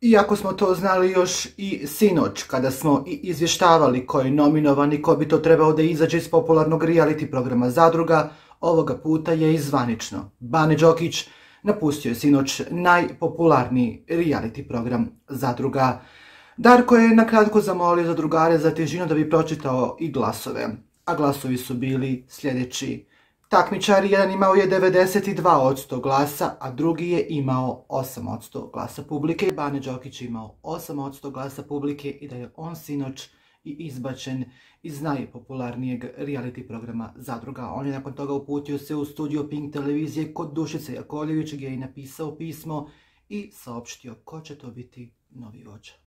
Iako smo to znali još i sinoć, kada smo izvještavali ko je nominovan i ko bi to trebao da izađe iz popularnog reality programa Zadruga, ovoga puta je i zvanično. Bane Đokić napustio je sinoć najpopularniji reality program Zadruga. Darko je nakratko zamolio zadrugare za težinu da bi pročitao i glasove, a glasovi su bili sljedeći. Takmičar jedan imao je 92% glasa, a drugi je imao 8% glasa publike. Bane Đokić je imao 8% glasa publike i da je on sinoć i izbačen iz najpopularnijeg reality programa Zadruga. On je nakon toga uputio se u studio Pink televizije kod Dušice Jakovljević gdje je napisao pismo i saopštio ko će to biti novi vođa.